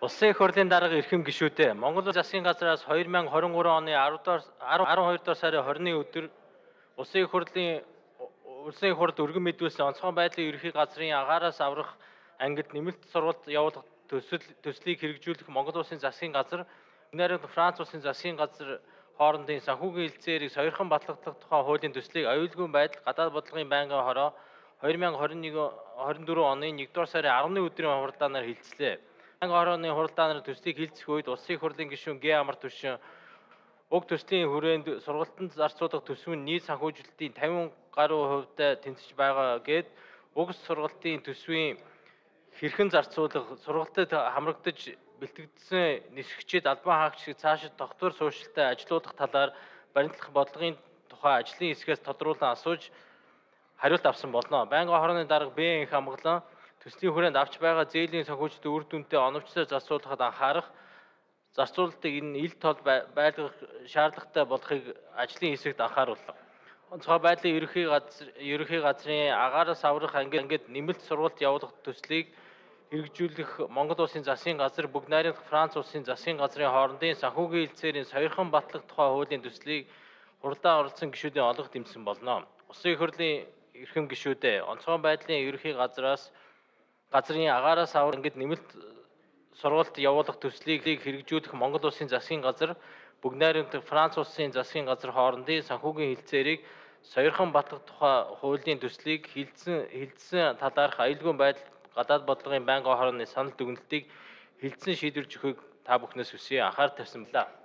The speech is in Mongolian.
Улсын их хурлын дарга эрхэм гишүүдээ Монгол засгийн газраас 2023 оны 12 дугаар сарын 20-ны өдөр Улсын их хурлд өргөн мэдүүлсэн онцгой байдлын ерөнхий газрын агаараас аврах ангид нэмэлт сургалт явуулах төслийг хэрэгжүүлэх Монгол Улсын засгийн газар, Герман, Франц Улсын засгийн газар хоорондын санхүүгийн хэлцээрийг сойрхон батлагдах тухай хуулийн төслийг аюулгүй байдал гадаад бодлогын байнгын хороо 2021-24 оны 1-р сарын 10-ны өдрийн хуралдаанаар хилцлээ. Байнгын хорооны хуралдаанаар төслийг хилцэх үед Улсын их хурлын гишүүн Г. Амар Түшин уг төслийн хүрээнд сургалтанд зарцуулах төсвийн нийт санхүүжилтийн 50 гаруй хувьтай тэнцэж байгаа гэд уг сургалтын төсвийн хэрхэн зарцуулах, сургалтад хамрагдаж бэлтгэгдсэн нисгчид албан хаагчид цаашид тогтвор суурьшилтай ажилуулах талаар баримтлах бодлогын тухай ажлын хэсгээс тодруулан асууж хариулт авсан болно. Байнгын хорооны дарга Б. Инх Амгалан төслийн хүрээнд авч байгаа зээлийн санхүүжилтийн үр дүнтэй оновчтой зарцуулахад анхаарах, зарцуулалтыг энэ ил тол байлгах шаардлагатай болохыг ажлын хэсэгт анхаарууллаа. Онцгой байдлын ерөнхий газрын агаараас аврах ангид нэмэлт сургалт явуулах төслийг хэрэгжүүлэх Монгол Улсын засгийн газар, Бүгд найрамдах Франц Улсын засгийн газрын хоорондын санхүүгийн хэлцээрийн сойрхон батлах тухай хуулийн төслийг хуралдаан оролцсон гишүүдийн олонх дэмжсэн болно. Улсын их хурлын эрхэм гишүүдээ онцгой байдлын ерөнхий газрын агаараас аврах ангид нэмэлт сургалт явуулах төслийг хэрэгжүүлэх Монгол Улсын засгийн газар, Бүгд найрамдах Франц Улсын засгийн газар хоорондын санхүүгийн хэлцээрийг сойрхон батлах тухай хуулийн төслийг хилцсэн талаарх аюулгүй байдал гадаад бодлогын байнгын хорооны санал дүгнэлтийг хилцэн шийдвэрлэж өгөхийг та бүхнээс хүсье. Анхаарал тавьсан байна.